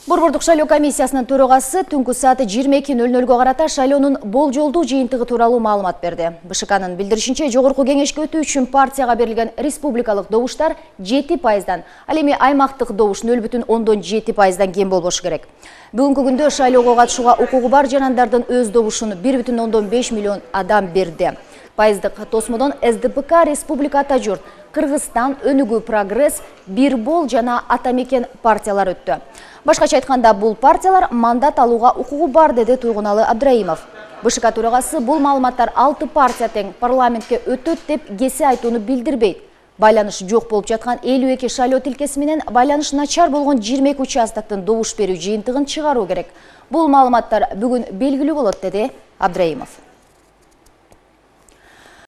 Борбордук шайлоо комиссиясынын төрагасы түнкү саат 22:00 карата шайлоонун болжолдуу жыйынтыгы тууралуу маалымат берди. БШКнын билдиришинче, жогорку кеңешке өтүү үчүн партияга берилген республикалык добуштар 7%, ал эми аймактык добуш 0,7%дан кем болбошу керек. Бүгүнкү күндө шайлоого катышууга укугу бар жарандардын өз добушун 1,5 миллион адам берди. Пайыздык тосмодон СДПК, Республика Ата журт, Кыргызстан, Өнүгүү Прогресс, Бир бол жана Ата мекен партиялар өттү. Башкача айтканда, бул партиялар мандат алууга укугу бар, деди Туйгуналы Абдраимов. БШК төрагасы бул маалыматтар 6 партия тең парламентке өтөт деп кесе айтууну билдирбейт. Байланыш жок болуп жаткан 52 шайлоо тилкеси менен байланыш начар болгон 22 участоктун добуш берүү жыйынтыгын чыгаруу керек. Бул маалыматтар бүгүн белгилүү болот, деди Абдраимов.